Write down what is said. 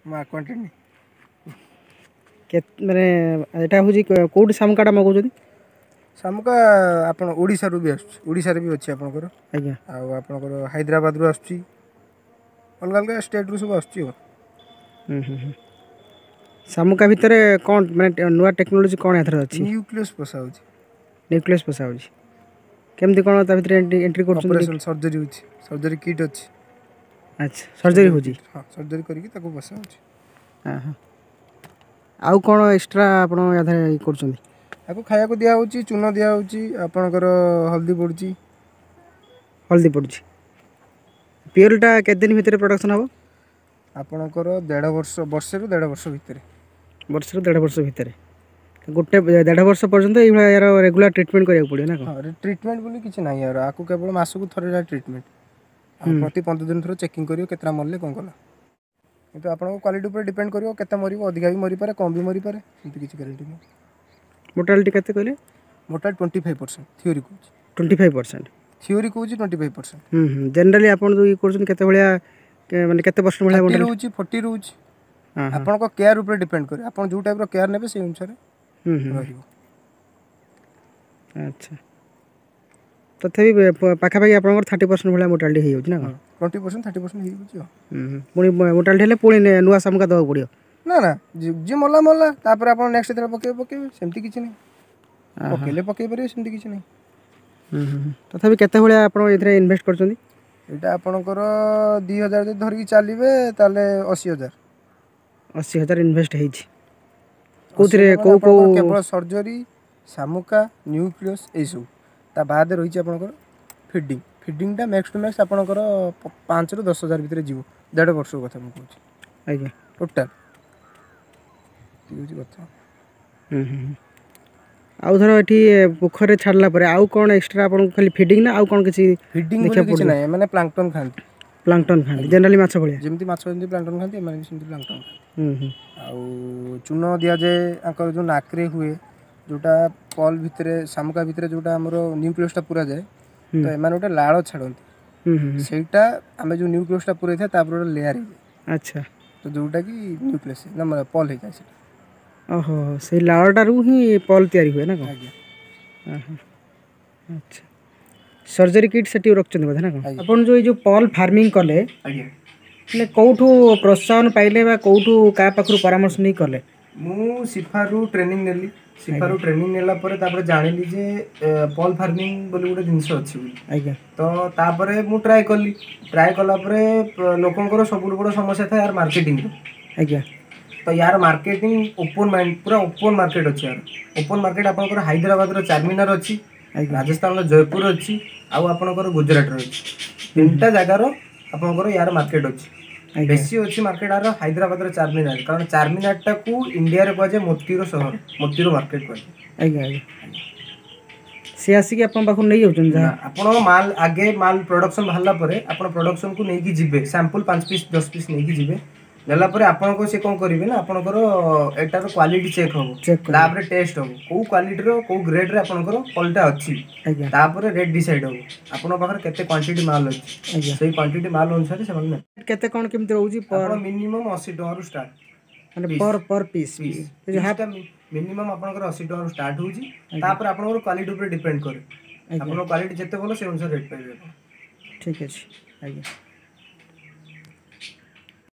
ମୁଁ ଆକ୍ୱାଣ୍ଟେଡ଼ ନାହିଁ। କେତେ ମାନେ ଏଇଟା ହେଉଛି, କେଉଁଠି ଶାମୁକାଟା ମଗାଉଛନ୍ତି? ଶାମୁକା ଆପଣ ଓଡ଼ିଶାରୁ ବି ଆସୁଛି, ଓଡ଼ିଶାରେ ବି ଅଛି ଆପଣଙ୍କର। ଆଉ ଆପଣଙ୍କର ହାଇଦ୍ରାବାଦରୁ ଆସୁଛି, ଅଲଗା ଅଲଗା ଷ୍ଟେଟ୍ରୁ ସବୁ ଆସୁଛି। ଆଉ ଶାମୁକା ଭିତରେ କ'ଣ ମାନେ ନୂଆ ଟେକ୍ନୋଲୋଜି କ'ଣ ଏଥିରେ ଅଛି? ନ୍ୟୁକ୍ଲିୟସ୍ ପଶା ହେଉଛି। ନ୍ୟୁକ୍ଲିୟସ୍ ପଶା ହେଉଛି, କେମିତି କ'ଣ ତା ଭିତରେ ଏଣ୍ଟ୍ରି କରୁଛନ୍ତି? ଅପରେସନ୍ ସର୍ଜରୀ ହେଉଛି, ସର୍ଜରୀ କିଟ୍ ଅଛି। ଆଚ୍ଛା, ସର୍ଜରୀ ହେଉଛି? ହଁ, ସର୍ଜରୀ କରିକି ତାକୁ ବସା ହେଉଛି। ହଁ ହଁ, ଆଉ କ'ଣ ଏକ୍ସଟ୍ରା ଆପଣ ୟା ଦେହରେ ଇଏ କରୁଛନ୍ତି? ତାକୁ ଖାଇବାକୁ ଦିଆହେଉଛି, ଚୂନ ଦିଆହେଉଛି, ଆପଣଙ୍କର ହଳଦୀ ପଡ଼ୁଛି। ହଳଦୀ ପଡ଼ୁଛି। ପିଅରଟା କେତେ ଦିନ ଭିତରେ ପ୍ରଡକ୍ସନ୍ ହେବ? ଆପଣଙ୍କର ଦେଢ଼ ବର୍ଷ, ବର୍ଷେରୁ ଦେଢ଼ ବର୍ଷ ଭିତରେ। ବର୍ଷରୁ ଦେଢ଼ ବର୍ଷ ଭିତରେ। ଗୋଟେ ଦେଢ଼ ବର୍ଷ ପର୍ଯ୍ୟନ୍ତ ଏଇଭଳିଆ ୟାର ରେଗୁଲାର ଟ୍ରିଟମେଣ୍ଟ କରିବାକୁ ପଡ଼ିବ ନା କ'ଣ? ହଁ, ଟ୍ରିଟମେଣ୍ଟ ବୋଲି କିଛି ନାହିଁ ୟାର। ଆକୁ କେବଳ ମାସକୁ ଥରେ ଟ୍ରିଟମେଣ୍ଟ, ଆଉ ପ୍ରତି 15 ଦିନ ଥରେ ଚେକିଂ କରିବ, କେତେଟା ମରିଲେ, କ'ଣ କଲା। କିନ୍ତୁ ଆପଣଙ୍କ କ୍ୱାଲିଟି ଉପରେ ଡିପେଣ୍ଡ କରିବ କେତେ ମରିବ। ଅଧିକା ବି ମରିପାରେ, କମ୍ ବି ମରିପାରେ, ସେମିତି କିଛି ଗ୍ୟାରେଣ୍ଟି ନାହିଁ। ମୋର୍ଟାଲିଟି କେତେ କହିଲେ? ମୋର୍ଟାଲ 25% ଥିଓରି କହୁଛି। 25%? ଥିଓରି କହୁଛି 25%। ହୁଁ ହୁଁ ଜେନେରାଲି ଆପଣ ଯେଉଁ ଇଏ କରୁଛନ୍ତି, କେତେ ଭଳିଆ, ମାନେ କେତେ ପରସେଣ୍ଟ ଭଳିଆ? 30 ରହୁଛି, 40 ରହୁଛି। ହଁ ହଁ ଆପଣଙ୍କ କେୟାର ଉପରେ ଡିପେଣ୍ଡ କରେ। ଆପଣ ଯେଉଁ ଟାଇପ୍ର କେୟାର ନେବେ, ସେଇ ଅନୁସାରେ ହୁଁ ହୁଁ ରହିବ। ଆଚ୍ଛା, ତଥାପି ପାଖାପାଖି ଆପଣଙ୍କର 30% ଭଳିଆ ମୋର୍ଟାଲିଟି ହେଇଯାଉଛି ନା କ'ଣ? 20%, 30% ହେଇଯାଉଛି ଆଉ। ହୁଁ ହୁଁ ପୁଣି ମୋର୍ଟାଲିଟି ହେଲେ ପୁଣି ନୂଆ ଶାମୁକା ଦେବାକୁ ପଡ଼ିବ? ନା ନା, ଯିଏ ମଲା ମଲା, ତାପରେ ଆପଣ ନେକ୍ସଟ ଯେତେବେଳେ ପକେଇବେ ପକେଇବେ, ସେମିତି କିଛି ନାହିଁ। ପକେଇଲେ ପକେଇ ପାରିବେ, ସେମିତି କିଛି ନାହିଁ। ହୁଁ ହୁଁ ହୁଁ। ତଥାପି କେତେ ଭଳିଆ ଆପଣ ଏଥିରେ ଇନଭେଷ୍ଟ କରିଛନ୍ତି? ଏଇଟା ଆପଣଙ୍କର 2000 ଯଦି ଧରିକି ଚାଲିବେ, ତାହେଲେ 80,000। 80,000 ଇନଭେଷ୍ଟ ହେଇଛି କେଉଁଥିରେ, କେଉଁ କେଉଁ? କେବଳ ସର୍ଜରୀ, ଶାମୁକା, ନ୍ୟୁକ୍ଲିୟସ୍ ଏଇସବୁ। ତା ବାଦେ ରହିଛି ଆପଣଙ୍କର ଫିଡ଼ିଂ। ଫିଡ଼ିଂଟା ମ୍ୟାକ୍ସ ଟୁ ମ୍ୟାକ୍ସ ଆପଣଙ୍କର 5ରୁ 10 ହଜାର ଭିତରେ ଯିବ। ଦେଢ଼ ବର୍ଷ କଥା ମୁଁ କହୁଛି। ଟୋଟାଲ୍ ହେଉଛି କଥା। ହୁଁ ହୁଁ ହୁଁ। ଆଉ ଧର ଏଠି ପୋଖରୀରେ ଛାଡ଼ିଲା ପରେ ଆଉ କ'ଣ ଏକ୍ସଟ୍ରା ଆପଣଙ୍କୁ, ଖାଲି ଫିଡ଼ିଂ ନା ଆଉ କ'ଣ କିଛି? ଫିଡ଼ିଂ ବୋଲି ଦେଖିବାକୁ କିଛି ପଡ଼ିବ। ନାହିଁ, ଏମାନେ ପ୍ଲାଙ୍କଟନ୍ ଖାଆନ୍ତି। ପ୍ଲାଙ୍କଟନ୍ ଖାଆନ୍ତି, ଜେନେରାଲି ମାଛ ଭଳିଆ? ଯେମିତି ମାଛ ଯେମିତି ପ୍ଲାଙ୍କଟନ୍ ଖାଆନ୍ତି, ଏମାନେ ବି ସେମିତି ପ୍ଲାଙ୍କଟନ୍ ଖାଆନ୍ତି। ହୁଁ ହୁଁ ଆଉ ଚୂନ ଦିଆଯାଏ। ଆଙ୍କର ଯେଉଁ ନାକରେ ହୁଏ, ଯେଉଁଟା ପଲ୍ ଭିତରେ, ଶାମୁକା ଭିତରେ ଯେଉଁଟା ଆମର ନ୍ୟୁକ୍ଲିୟସଟା ପୁରା ଯାଏ, ତ ଏମାନେ ଗୋଟେ ଲାଳ ଛାଡ଼ନ୍ତି। ହୁଁ ହୁଁ ହୁଁ। ସେଇଟା ଆମେ ଯେଉଁ ନ୍ୟୁକ୍ଲିୟସଟା ପୁରେଇଥାଏ, ତାପରେ ଗୋଟେ ଲେୟାର ହେଇଯାଏ। ତ ଯେଉଁଟାକି ନ୍ୟୁକ୍ଲିୟସ୍ ନା ମାନେ ପଲ୍ ହେଇଯାଏ ସେଇଟା। ଓହୋ, ସେଇ ଲାଳଟାରୁ ହିଁ ପଲ୍ ତିଆରି ହୁଏ ନା କ'ଣ? ଆଜ୍ଞା। ଆଚ୍ଛା, ସର୍ଜରୀ କିଟ୍ ସେଠି ରଖୁଛନ୍ତି ବୋଧେ ନା କ'ଣ? ଆଜ୍ଞା। ଆପଣ ଯେଉଁ ଏଇ ଯେଉଁ ପଲ୍ ଫାର୍ମିଂ କଲେ, ମାନେ କେଉଁଠୁ ପ୍ରୋତ୍ସାହନ ପାଇଲେ ବା କେଉଁଠୁ କାହା ପାଖରୁ ପରାମର୍ଶ ନେଇ କଲେ? ମୁଁ ସିଫାରୁ ଟ୍ରେନିଂ ନେଲି। ସିଫାରୁ ଟ୍ରେନିଂ ନେଲା ପରେ ତାପରେ ଜାଣିଲି ଯେ ପଲ୍ ଫାର୍ମିଂ ବୋଲି ଗୋଟେ ଜିନିଷ ଅଛି ବୋଲି। ତ ତାପରେ ମୁଁ ଟ୍ରାଏ କଲି। ଟ୍ରାଏ କଲା ପରେ ଲୋକଙ୍କର ସବୁଠୁ ବଡ଼ ସମସ୍ୟା ଥାଏ ୟାର ମାର୍କେଟିଂର। ତ ୟାର ମାର୍କେଟିଂ ଓପନ୍ ମାଇଣ୍ଡ, ପୁରା ଓପନ୍ ମାର୍କେଟ ଅଛି ୟାର। ଓପନ୍ ମାର୍କେଟ ଆପଣଙ୍କର ହାଇଦ୍ରାବାଦର ଚାରମିନାର ଅଛି, ରାଜସ୍ଥାନର ଜୟପୁର ଅଛି, ଆଉ ଆପଣଙ୍କର ଗୁଜୁରାଟର ଅଛି। ତିନିଟା ଜାଗାର ଆପଣଙ୍କର ୟାର ମାର୍କେଟ ଅଛି। ବେଶୀ ଅଛି ମାର୍କେଟ ୟାର ହାଇଦ୍ରାବାଦର ଚାରମିନାର, କାରଣ ଚାରମିନାରଟାକୁ ଇଣ୍ଡିଆରେ କୁହାଯାଏ ମୋତିର ସହର, ମୋତିର ମାର୍କେଟ କୁହାଯାଏ। ଆଜ୍ଞା ଆଜ୍ଞା ସେ ଆସିକି ଆପଣଙ୍କ ପାଖରୁ ନେଇଯାଉଛନ୍ତି ଯାହା? ନା, ଆପଣ ମାଲ ଆଗେ, ମାଲ ପ୍ରଡକ୍ସନ ବାହାରିଲା ପରେ ଆପଣ ପ୍ରଡକ୍ସନକୁ ନେଇକି ଯିବେ। ସାମ୍ପଲ 5 ପିସ୍, 10 ପିସ୍ ନେଇକି ଯିବେ। ନେଲା ପରେ ଆପଣଙ୍କ ସେ କ'ଣ କରିବେ ନା, ଆପଣଙ୍କର ଏଟାର କ୍ୱାଲିଟି ଚେକ୍ ହବ। ଚେକ୍ କରିବେ। ତାପରେ ଟେଷ୍ଟ ହବ, କୋଉ କ୍ୱାଲିଟିର, କୋଉ ଗ୍ରେଡରେ ଆପଣଙ୍କର ପଲଟା ଅଛି। ତାପରେ ରେଟ୍ ଡିସାଇଡ୍ ହବ, ଆପଣଙ୍କ ପାଖରେ କେତେ କ୍ୱାଣ୍ଟିଟି ମାଲ ଅଛି। ସେଇ କ୍ୱାଣ୍ଟିଟି ମାଲ ଅନୁସାରେ ସେମାନେ ନେବେ। କେତେ କ'ଣ କେମିତି ରହୁଛି ପର୍? ଆପଣ ମିନିମମ୍ 80 ଟଙ୍କାରୁ ଷ୍ଟାର୍ଟ। ମାନେ per per piece? Piece minimum ଆପଣଙ୍କର 80 ଟଙ୍କାରୁ ଷ୍ଟାର୍ଟ ହଉଛି। ତାପରେ ଆପଣଙ୍କର କ୍ୱାଲିଟି ଉପରେ ଡିପେଣ୍ଡ କରେ। ଆପଣଙ୍କ କ୍ୱାଲିଟି ଯେତେ ଭଲ, ସେ ଅନୁସାରେ ରେଟ୍ ପାଇବେ ଆପଣ। ଠିକ୍ ଅଛି ଆଜ୍ଞା।